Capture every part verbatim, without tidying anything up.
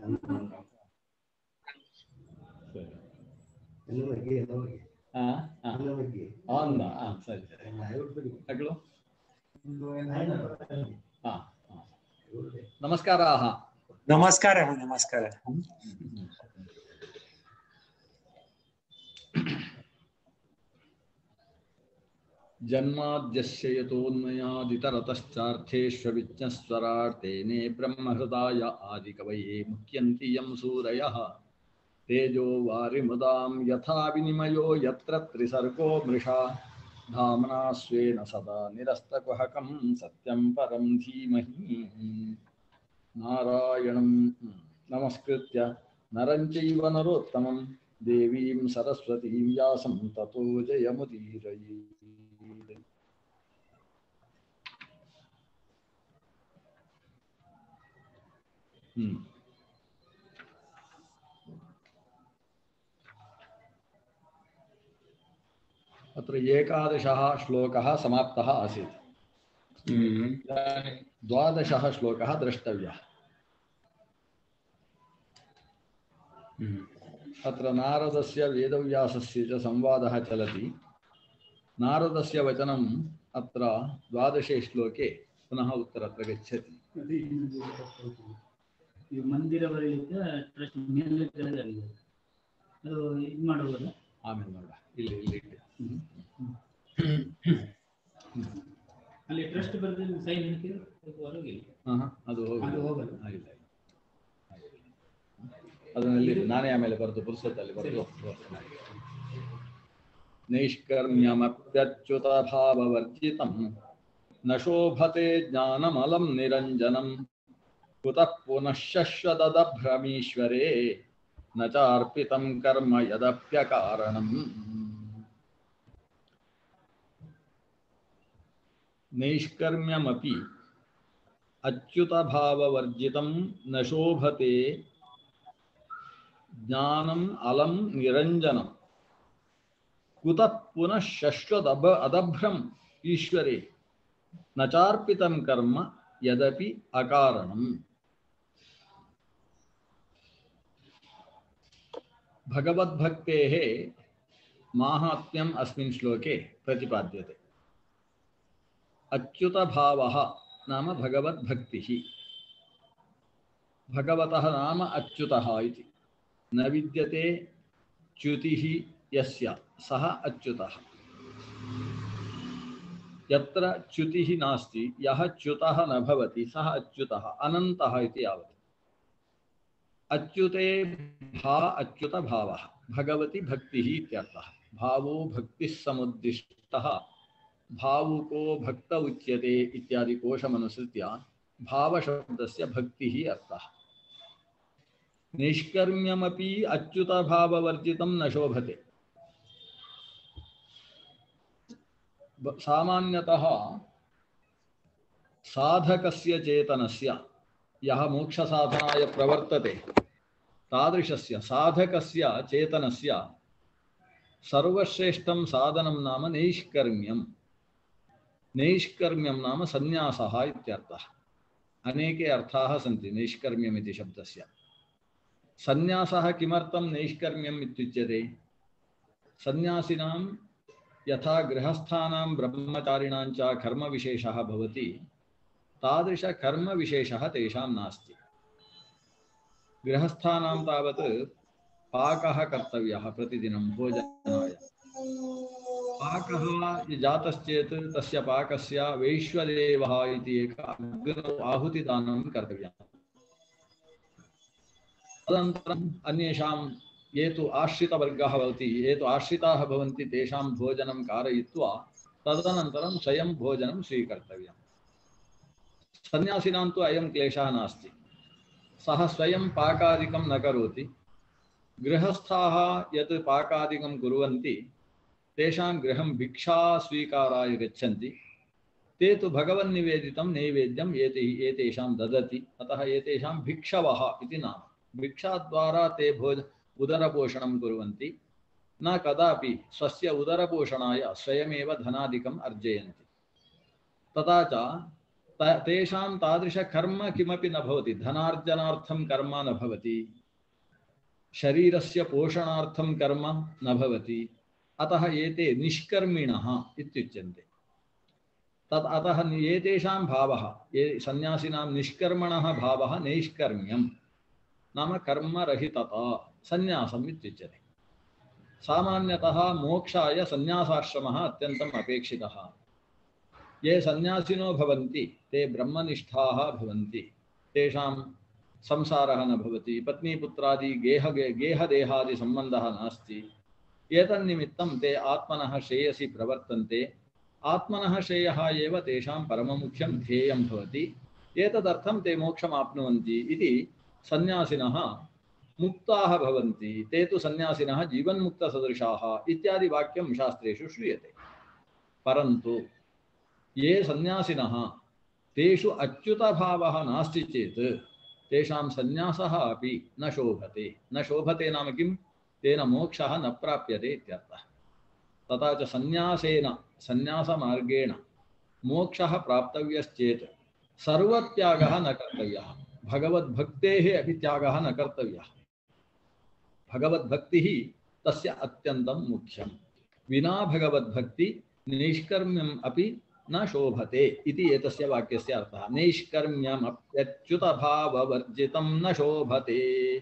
ಸರಿ ಸರಿ ಮಕ್ಕಳು ನಮಸ್ಕಾರ. ನಮಸ್ಕಾರ ನಮಸ್ಕಾರ. ಜನ್ಮಾದ್ಯಸ್ಯ ಯತೋನ್ಮಯಾದಿತರತಶ್ಚಾರ್ಥೇಷ್ವವಿಜ್ಞಸ್ವರಾಟ್ ತೇನೇ ಬ್ರಹ್ಮಹೃದಾಯ ಆದಿಕವಯೇ ಮುಖ್ಯಂತಿ ಯಂ ಸೂರಯಃ ತೇಜೋ ವಾರಿಮೃದಾಂ ಯಥಾ ವಿನಿಮಯೋ ಯತ್ರ ತ್ರಿಸರ್ಗೋ ಮೃಷಾ ಧಾಮ್ನಾ ಸ್ವೇನ ಸದಾ ನಿರಸ್ತಕುಹಕಂ ಸತ್ಯಂ ಪರಂ ಧೀಮಹಿ. ನಾರಾಯಣಂ ನಮಸ್ಕೃತ್ಯ ನರಂ ಚೈವ ನರೋತ್ತಮಂ ದೇವೀಂ ಸರಸ್ವತೀಂ ವ್ಯಾಸಂ ತತೋ ಜಯಮುದೀರಯೇತ್. ಹ್ಮ್ अत्र एकादशः श्लोकः समाप्तः आसीत्. द्वादशः श्लोकः द्रष्टव्यः. अत्र नारदस्य वेदव्यासस्य च संवादः चलति. नारदस्य वचनम् अत्र द्वादशे श्लोके पुनः उत्तरत्र गच्छति. ಆಮೇಲೆ ನೋಡ ಇಲ್ಲಿ ಇಲ್ಲಿ ಅಲ್ಲಿ ಟ್ರಸ್ಟ್ ಬರೆದಿಲ್ಲ ಸೈನ್ ಹಾಕಿದ್ರೆ ಹೊರಗಿಲ್ಲ. ಹಾಂ ಅದು ಹೋಗಲ್ಲ ಆಗಿಲ್ಲ. ಅದನ್ನಲ್ಲಿ ನಾನೇ ಆಮೇಲೆ ಬರೆದು ಪುಸ್ತಕದಲ್ಲಿ ಬರೆದು ನೈಷ್ಕರ್ಮ್ಯಮಪ್ಯಚ್ಯುತ ಭಾವವರ್ಜಿತಂ ನ ಶೋಭತೆ ಜ್ಞಾನಮಲಂ ನಿರಂಜನಂ ಕುತಃ ಪುನಃ ಶಶ್ವತದಭ್ರಮೀಶ್ವರೇ ನ ಚಾರ್ಪಿತಂ ಕರ್ಮ ಯದಪ್ಯಕಾರಣಂ. ನೈಷ್ಕರ್ಮ್ಯಮಪಿ ಅಚ್ಯುತಭಾವವರ್ಜಿತಂ ನ ಶೋಭತೆ ಜ್ಞಾನಂ ಅಲಂ ನಿರಂಜನಂ ಕುತಃ ಪುನಃ ಶಶ್ವತ ಅದಭ್ರಂ ಈಶ್ವರೇ ನ ಚಾರ್ಪಿತಂ ಕರ್ಮ ಯದಪಿ ಅಕಾರಣಂ. भगवद्भक्तेः माहात्म्यम् अस्मिन् श्लोके प्रतिपाद्यते. अच्युतभावः नाम भगवद्भक्तिः. भगवतः नाम अच्युतः इति. न विद्यते च्युतिः यस्य सः अच्युतः. यत्र च्युतिः नास्ति यः च्युतः न भवति सः अच्युतः अनन्तः इति यावत्. अच्युते भा अच्युत भावः भगवती भक्तिः इत्यर्थः. भावो भक्तिः समुद्दिष्टः भावुको भक्त उच्यते इत्यादि कोशमनुसृत्य भावशब्दस्य भक्तिः अर्थः. निष्कर्म्यमपि अच्युत भाववर्जितं न शोभते. सामान्यतः साधकस्य चेतनस्य यः मोक्षसाधनाय प्रवर्तते तादृशस्य साधकस्य चेतनस्य सर्वश्रेष्ठं साधनं नाम नैष्कर्म्यं. नैष्कर्म्यं नाम संन्यासः इत्यर्थः. अनेके अर्थाः सन्ति नैष्कर्म्यम् इति शब्दस्य. संन्यासः किमर्थं नैष्कर्म्यम् इत्युच्यते? संन्यासिनां यथा गृहस्थानां ब्रह्मचारिणां च कर्मविशेषः भवति तादृश कर्मविशेषः तेषां नास्ति. गृहस्थानां तावत् पाकः कर्तव्यः प्रतिदिनं भोजनाय. पाकः जातश्चेत् तस्य पाकस्य वैश्वदेवः इति एक अग्नौ आहुतिदानं कर्तव्यम्. तदनन्तरम् अन्येषां ये तु आश्रितवर्गः भवति ये तु आश्रिताः भवन्ति तेषां भोजनं कारयित्वा तदनन्तरं स्वयं भोजनं स्वीकर्तव्यम्. सन्यासिनां तु अयं क्लेशः नास्ति. सः स्वयं पाकादिकं न करोति. गृहस्थाः यत् पाकादिकं कुर्वन्ति तेषां गृहं भिक्षा स्वीकाराय गच्छन्ति. ते तु भगवन्निवेदितं नैवेद्यं एते एतेषां ददति. अतः एतेषां भिक्षवः इति नाम. भिक्षाद्वारा ते भोज उदरपोषणं कुर्वन्ति. न कदापि स्वस्य उदरपोषणाय स्वयमेव धनादिकम् अर्जयन्ति. तथा च तेषां तादृशकर्म किमपि न भवति, धनार्जनार्थं कर्म न भवति, शरीरस्य पोषणार्थं कर्म न भवति, अतः एते निष्कर्मिणः इत्युच्यन्ते। तत् अतः एतेषां भावः, ये सन्यासिनां निष्कर्मणः भावः नैष्कर्म्यं नाम कर्मरहितता सन्यासम् इत्युच्यते। सामान्यतः मोक्षाय सन्यासाश्रमः अत्यन्तम् अपेक्षितः। ये सन्यासिनो भवन्ति ते ब्रह्मनिष्ठाः भवन्ति, तेषां संसारः न भवति, पत्नीपुत्रादि गेह गेहदेहादि सम्बन्धः नास्ति। एतन्निमित्तं ते आत्मनः श्रेयसि प्रवर्तन्ते। आत्मनः श्रेयः एव तेषां परममुख्यं ध्येयं भवति। एतदर्थं ते मोक्षमाप्नुवन्ति इति सन्यासिनः मुक्ताः भवन्ति। ते तु सन्यासिनः जीवन्मुक्तसदृशाः इत्यादि वाक्यं शास्त्रेषु श्रूयते। परन्तु ये सन्यासिनः तेषु अच्युतभावः नास्ति चेत् तेषां सन्यासः अपि न शोभते। न शोभते नाम किं? तेन मोक्षः न प्राप्यते इत्यर्थः। तथा च सन्यासेन सन्यासमार्गेण मोक्षः प्राप्तव्यश्चेत् सर्वत्यागः न कर्तव्यः, भगवद्भक्तेः अपि त्यागः न कर्तव्यः। भगवद्भक्तिः तस्य अत्यन्तं मुख्यं। विना भगवद्भक्ति नैष्कर्म्यम् अपि न शोभते इति एतस्य वाक्यस्य अर्थः। नैष्कर्म्यमप्यच्युतभाववर्जितं न शोभते।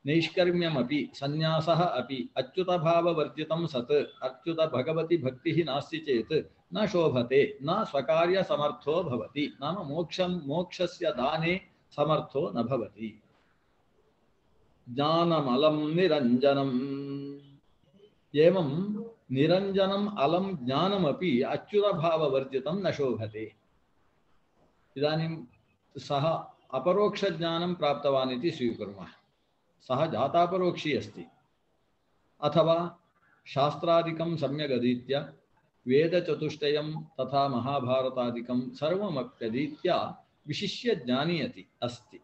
नैष्कर्म्यमपि सन्यासः अपि अच्युतभाववर्जितं सत्, अच्युत भगवती भक्तिः नास्ति चेत् न शोभते, न स्वकार्यसमर्थो भवति, नाम मोक्षं मोक्षस्य दाने समर्थो न भवति। ज्ञानमलं निरञ्जनम्, एवं निरञ्जनम् अलं ज्ञानमपि अच्युतभाववर्जितं न शोभते। इदानीं सः अपरोक्षज्ञानं प्राप्तवान् इति स्वीकुर्मः। सः जातापरोक्षी अस्ति, अथवा शास्त्रादिकं सम्यक् अधीत्य वेदचतुष्टयं तथा महाभारतादिकं सर्वमप्यधीत्य विशिष्य ज्ञानी अस्ति।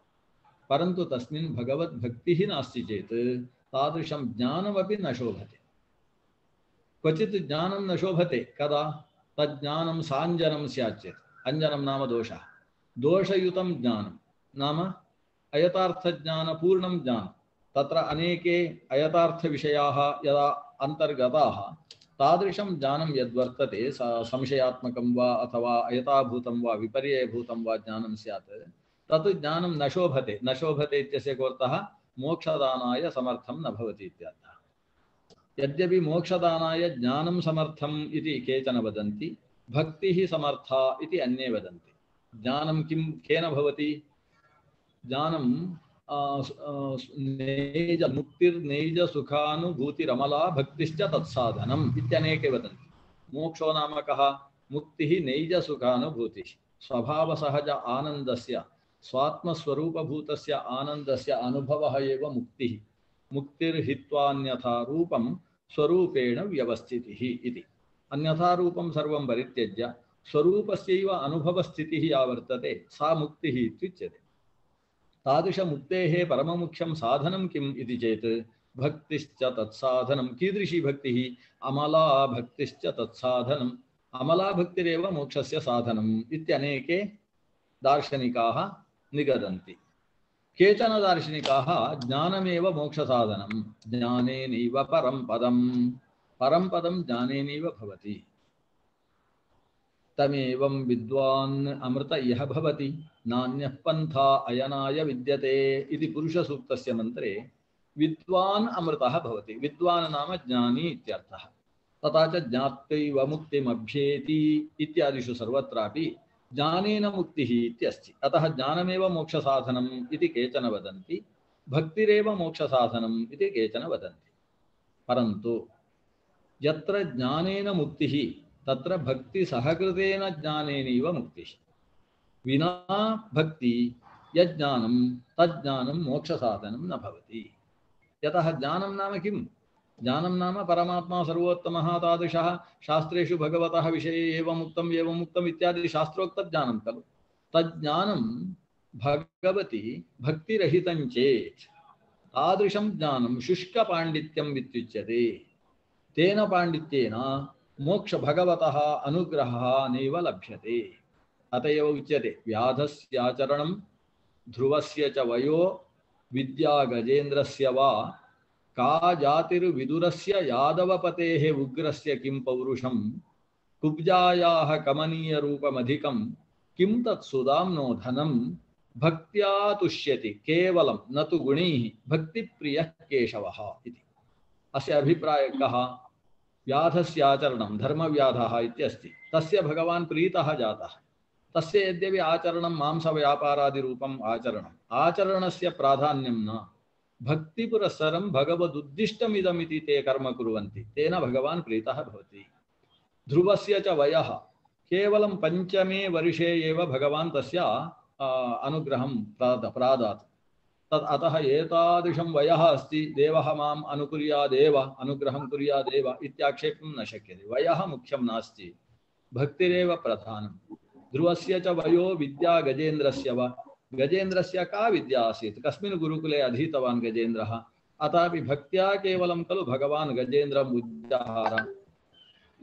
परन्तु तस्मिन् भगवद्भक्तिः नास्ति चेत् तादृशं ज्ञानमपि न शोभते। क्वचित् ज्ञानं न शोभते, कदा? तज्ज्ञानं साञ्जनं स्यात् चेत्। अञ्जनं नाम दोषः। दोषयुतं ज्ञानं नाम अयथार्थज्ञानपूर्णं ज्ञानं। तत्र अनेके अयथार्थविषयाः यदा अन्तर्गताः, तादृशं ज्ञानं यद्वर्तते संशयात्मकं वा अथवा अयथाभूतं वा विपर्ययभूतं वा ज्ञानं स्यात्, तत् ज्ञानं न शोभते। न शोभते इत्यस्य कोऽर्थः? मोक्षदानाय समर्थं न भवति इत्यर्थः। यद्यपि मोक्षदानाय ज्ञानं समर्थम् इति केचन वदन्ति, भक्तिः समर्था इति अन्ये वदन्ति। ज्ञानं किं केन भवति? ज्ञानं नैज मुक्तिर्नैज सुखानुभूतिरमला भक्तिश्च तत्साधनम् इत्यनेके वदन्ति। मोक्षो नाम कः? मुक्तिः नैज सुखानुभूतिः, स्वभावसहज आनन्दस्य स्वात्मस्वरूपभूतस्य आनन्दस्य अनुभवः एव मुक्तिः। मुक्तिर्हित्वान्यथा रूपं स्वरूपेण व्यवस्थितिः इति। अन्यथा रूपं सर्वं परित्यज्य स्वरूपस्यैव अनुभवस्थितिः या वर्तते सा मुक्तिः इत्युच्यते। तादृशमुक्तेः परममुख्यं साधनं किम् इति चेत् भक्तिश्च तत्साधनं। कीदृशी भक्तिः? अमला भक्तिश्च तत्साधनम्। अमला भक्तिरेव मोक्षस्य साधनम् इत्यनेके दार्शनिकाः निगदन्ति। केचन दार्शनिकाः ज्ञानमेव मोक्षसाधनं, ज्ञानेनैव परं पदं, परं पदं ज्ञानेनैव भवति, तमेवं विद्वान् अमृत इह भवति, नान्यः पन्था अयनाय विद्यते इति पुरुषसूक्तस्य मन्त्रे विद्वान् अमृतः भवति। विद्वान् नाम ज्ञानी इत्यर्थः। तथा च ज्ञात्वैव मुक्तिमभ्येति इत्यादिषु सर्वत्रापि ज्ञानेन मुक्तिः इत्यस्ति। अतः ज्ञानमेव मोक्षसाधनम् इति केचन वदन्ति, भक्तिरेव मोक्षसाधनम् इति केचन वदन्ति। परन्तु यत्र ज्ञानेन मुक्तिः तत्र भक्ति सहकृतेन ज्ञानेनैव मुक्तिः। विना भक्ति यज्ञानं तज्ज्ञानं मोक्षसाधनं न भवति। यतः ज्ञानं नाम किं? ज्ञानं नाम परमात्मा सर्वोत्तमः तादृशः शास्त्रेषु भगवतः विषये एवम् उक्तम् एवम् उक्तम् इत्यादि शास्त्रोक्तज्ञानं खलु। तज्ज्ञानं भगवति भक्तिरहितं चेत् तादृशं ज्ञानं शुष्कपाण्डित्यम् इत्युच्यते। तेन पाण्डित्येन मोक्ष भगवतः अनुग्रहः नैव लभ्यते। अत एव उच्यते व्याधस्याचरणं ध्रुवस्य च वयो विद्या गजेन्द्रस्य वा का जातिर्विदुरस्य यादवपतेः उग्रस्य किं पौरुषं कुब्जायाः कमनीयरूपमधिकं किं तत्सुदाम्नो धनं भक्त्या तुष्यति केवलं न तु गुणैः भक्तिप्रियः केशवः इति। अस्य अभिप्रायः कः? व्याधस्याचरणं धर्मव्याधः इत्यस्ति, तस्य भगवान् प्रीतः जातः। तस्य यद्यपि आचरणं मांसव्यापारादिरूपम् आचरणम्, आचरणस्य प्राधान्यं न, भक्तिपुरस्सरं भगवदुद्दिष्टमिदमिति ते कर्म कुर्वन्ति, तेन भगवान् प्रीतः भवति। ध्रुवस्य च वयः केवलं पञ्चमे वर्षे एव भगवान् तस्य अनुग्रहं प्रादात्। तत् अतः एतादृशं वयः अस्ति, देवः माम् अनुकुर्यादेव अनुग्रहं कुर्यादेव इत्याक्षेपं न शक्यते। वयः मुख्यं नास्ति, भक्तिरेव प्रधानं। ध्रुवस्य च वयो विद्या गजेन्द्रस्य वा, गजेन्द्रस्य का विद्या आसीत्, कस्मिन् गुरुकुले अधीतवान् गजेन्द्रः, अथापि भक्त्या केवलं खलु भगवान् गजेन्द्रम् उद्धार।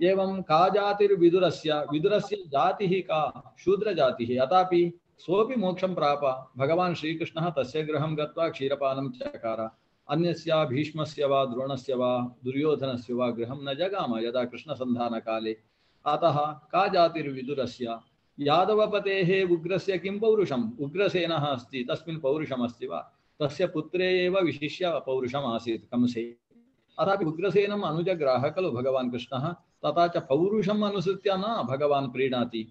एवं का जातिर्विदुरस्य, विदुरस्य जातिः का, शूद्रजातिः, अथापि सोऽपि मोक्षं प्राप। भगवान् श्रीकृष्णः तस्य गृहं गत्वा क्षीरपानं चकार। अन्यस्य भीष्मस्य वा द्रोणस्य वा दुर्योधनस्य वा गृहं न जगाम यदा कृष्णसन्धानकाले। अतः का जातिर्विदुरस्य, यादवपतेः उग्रस्य किं पौरुषम्, उग्रसेनः अस्ति तस्मिन् पौरुषमस्ति वा, तस्य पुत्रे एव विशिष्य पौरुषम् आसीत् कंसे। अथापि उग्रसेनम् अनुजग्राह खलु भगवान् कृष्णः, तथा च पौरुषम् अनुसृत्य न भगवान् प्रीणाति।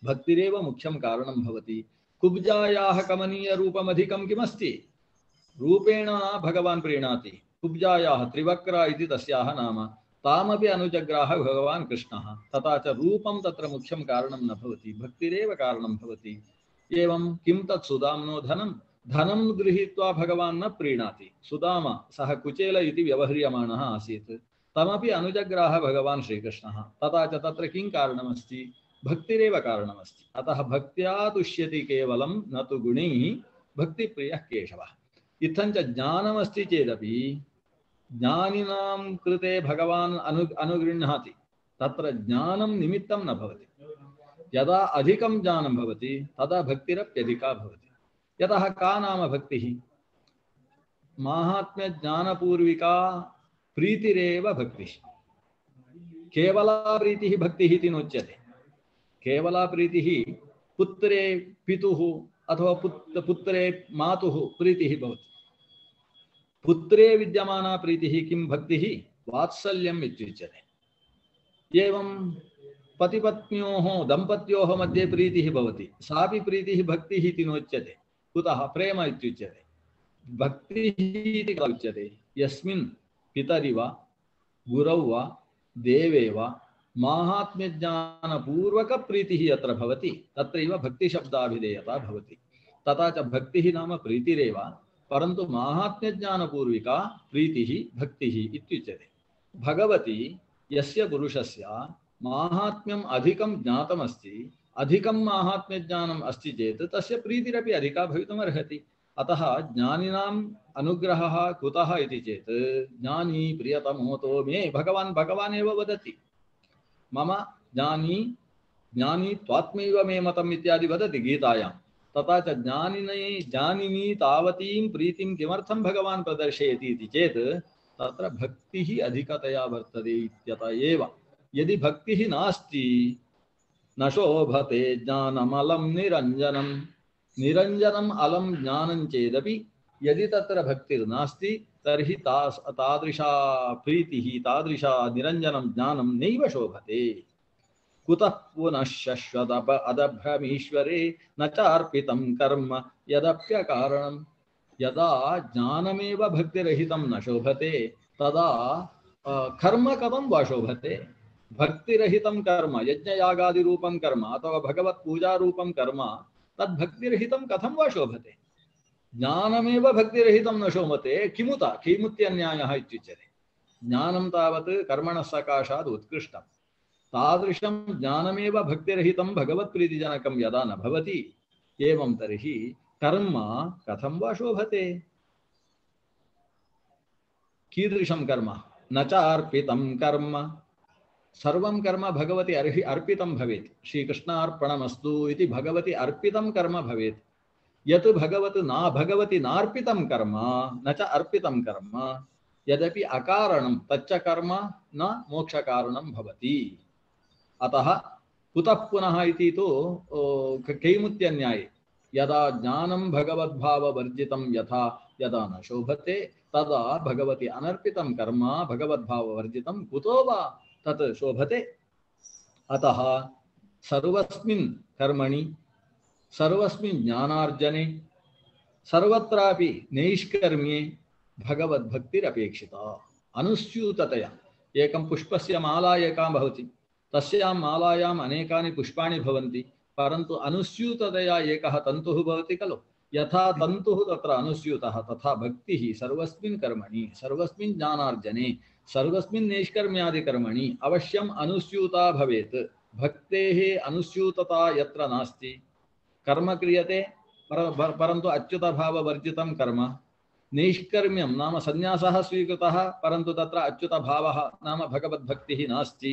भक्तिरेव मुख्यं कारणं भवति। कुब्जायाः कमनीयरूपमधिकं किमस्ति, रूपेण भगवान् प्रीणाति। कुब्जायाः त्रिवक्रा इति तस्याः नाम, तामपि अनुजग्राह भगवान् कृष्णः। तथा च रूपं तत्र मुख्यं कारणं न भवति, भक्तिरेव कारणं भवति। एवं किं तत् सुदाम्नो धनं, धनं गृहीत्वा भगवान् न प्रीणाति। सुदाम सः कुचेल इति व्यवह्रियमाणः आसीत्, तमपि अनुजग्राह भगवान् श्रीकृष्णः। तथा च तत्र किं कारणमस्ति, भक्तिरेव कारणमस्ति। अतः भक्त्या तुष्यति केवलं न तु गुणैः भक्तिप्रियः केशवः। इत्थञ्च ज्ञानमस्ति चेदपि ज्ञानिनां कृते भगवान् अनु अनुगृह्णाति, तत्र ज्ञानं निमित्तं न भवति। यदा अधिकं ज्ञानं भवति तदा भक्तिरप्यधिका भवति। यतः का नाम भक्तिः, माहात्म्यज्ञानपूर्विका प्रीतिरेव भक्तिः। केवला प्रीतिः भक्तिः इति नोच्यते। केवला प्रीतिः पुत्रे पितुः अथवा पुत्र पुत्रे मातुः प्रीतिः भवति। पुत्रे विद्यमाना प्रीतिः किं भक्तिः, वात्सल्यम् इत्युच्यते। एवं पतिपत्न्योः दम्पत्योः मध्ये प्रीतिः भवति, सापि प्रीतिः भक्तिः इति नोच्यते। कुतः, प्रेम इत्युच्यते। भक्तिः इति उच्यते यस्मिन् पितरि वा गुरौ वा देवे वा माहात्म्यज्ञानपूर्वक प्रीतिः यत्र भवति तत्रैव भक्तिशब्दाभिधेयता भवति। तथा च भक्तिः नाम प्रीतिरेव, परन्तु माहात्म्यज्ञानपूर्विका प्रीतिः भक्तिः इत्युच्यते। भगवती यस्य पुरुषस्य माहात्म्यम् अधिकं ज्ञातमस्ति, अधिकं माहात्म्यज्ञानम् अस्ति चेत् तस्य प्रीतिरपि अधिका भवितुमर्हति। अतः ज्ञानिनाम् अनुग्रहः कुतः इति चेत्, ज्ञानी प्रियतमोतो मे, भगवान् भगवान् एव वदति, मम ज्ञानी ज्ञानी त्वात्मैव मे मतम् इत्यादि वदति गीतायां। तथा च ज्ञानिनी ज्ञानिनी तावतीं प्रीतिं किमर्थं भगवान् प्रदर्शयति इति चेत् तत्र भक्तिः अधिकतया वर्तते इत्यतः एव। यदि भक्तिः नास्ति न शोभते ज्ञानमलं निरञ्जनं, निरञ्जनम् अलं ज्ञानं चेदपि यदि तत्र भक्तिर्नास्ति तर्हि तास् तादृशा प्रीतिः तादृशा निरञ्जनं ज्ञानं नैव शोभते। कुतः पुनः शश्वदप अदभ्रमीश्वरे न चार्पितं कर्म यदप्यकारणं। यदा ज्ञानमेव भक्तिरहितं न शोभते तदा कर्म कथं वा शोभते। भक्तिरहितं कर्म, यज्ञयागादिरूपं कर्म अथवा भगवत्पूजारूपं कर्म, तद्भक्तिरहितं कथं वा शोभते। ज्ञानमेव भक्तिरहितं न शोभते, किमुत किमुत्यन्यायः इत्युच्यते। ज्ञानं तावत् कर्मणः सकाशात् उत्कृष्टं, तादृशं ज्ञानमेव भक्तिरहितं भगवत्प्रीतिजनकं यदा न भवति, एवं तर्हि कर्म कथं वा शोभते। कीदृशं कर्म, न चार्पितं कर्म, सर्वं कर्म भगवति अर्हि अर्पितं भवेत्। श्रीकृष्णार्पणमस्तु इति भगवति अर्पितं कर्म भवेत्। यत् भगवत् ना भगवति नार्पितं कर्म न च अर्पितं कर्म यद्यपि अकारणं तच्च कर्म न मोक्षकारणं भवति। अतः कुतः पुनः इति तु कैमुत्यन्याये यदा ज्ञानं भगवद्भाववर्जितं यथा यदा न शोभते तदा भगवति अनर्पितं कर्म भगवद्भाववर्जितं कुतो वा तत् शोभते। अतः सर्वस्मिन् कर्मणि सर्वस्मिन् ज्ञानार्जने सर्वत्रापि नैष्कर्म्ये भगवद्भक्तिरपेक्षिता। अनुस्यूततया एकं पुष्पस्य माला एका भवति, तस्यां मालायाम् अनेकानि पुष्पाणि भवन्ति, परन्तु अनुस्यूततया एकः तन्तुः भवति खलु। यथा तन्तुः तत्र अनुस्यूतः तथा भक्तिः सर्वस्मिन् कर्मणि सर्वस्मिन् ज्ञानार्जने सर्वस्मिन् नैष्कर्म्यादिकर्मणि अवश्यम् अनुस्यूता भवेत्। भक्तेः अनुस्यूतता यत्र नास्ति कर्म क्रियते पर, परन्तु अच्युतभाववर्जितं कर्म, नैष्कर्म्यं नाम संन्यासः स्वीकृतः परन्तु तत्र अच्युतभावः नाम भगवद्भक्तिः नास्ति।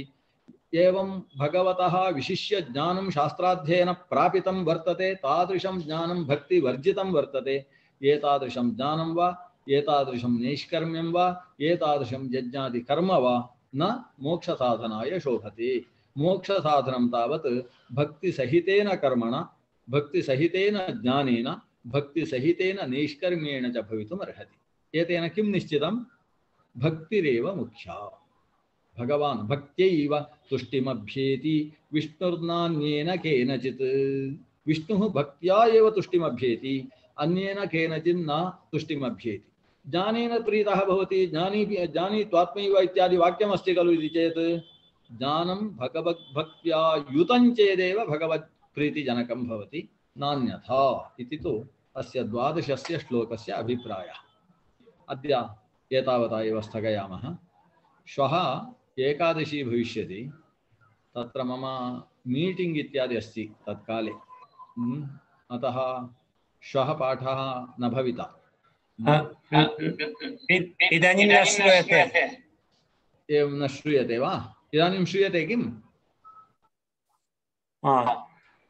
एवं भगवतः विशिष्य ज्ञानं शास्त्राध्ययन प्रापितं वर्तते, तादृशं ज्ञानं भक्तिवर्जितं वर्तते। एतादृशं ज्ञानं वा एतादृशं नैष्कर्म्यं वा एतादृशं यज्ञादि कर्म वा न मोक्षसाधनाय शोभते। मोक्षसाधनं तावत् भक्तिसहितेन कर्मणा भक्तिसहितेन ज्ञानेन भक्तिसहितेन नैष्कर्म्येण च भवितुम् अर्हति। एतेन किं निश्चितं? भक्तिरेव मुख्या। भगवान् भक्त्यैव तुष्टिमभ्येति विष्णुर्नान्येन केनचित्। विष्णुः भक्त्या एव तुष्टिमभ्येति, अन्येन केनचित् न तुष्टिमभ्येति। ज्ञानेन प्रीतः भवति, ज्ञानी ज्ञानी त्वात्मैव इत्यादि वाक्यमस्ति खलु इति चेत् ज्ञानं भगवद्भक्त्या युतं चेदेव भगवत्प्रीतिजनकं भवति, नान्यथा इति तु अस्य द्वादशस्य श्लोकस्य अभिप्रायः। अद्य एतावता एव स्थगयामः। श्वः एकादशी भविष्यति, तत्र मम मीटिंग इत्यादि अस्ति तत्काले, अतः श्वः पाठः न भविता। इदानीं न श्रूयते। एवं न श्रूयते वा? इदानीं श्रूयते किम्?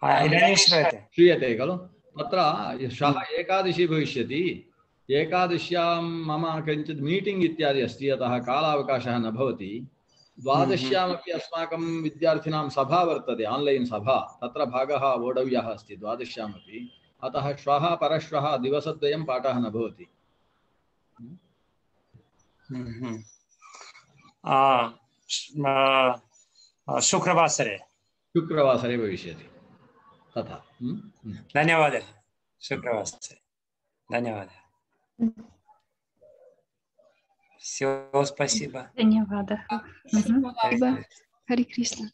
इदानीं श्रूयते श्रूयते खलु। तत्र श्वः एकादशी भविष्यति, एकादश्यां मम किञ्चित् मीटिंग इत्यादि अस्ति, अतः कालावकाशः न भवति। द्वादश्यामपि अस्माकं विद्यार्थिनां सभा वर्तते, ऑनलाइन सभा, तत्र भागः वोढव्यः अस्ति द्वादश्यामपि। अतः श्वः परश्वः दिवसद्वयं पाठः न भवति। शुक्रवासरे शुक्रवासरे भविष्यति तथा। धन्यवादः। शुक्रवासरे धन्यवादः। Все, спасибо. धन्यवादः। Hare Krishna.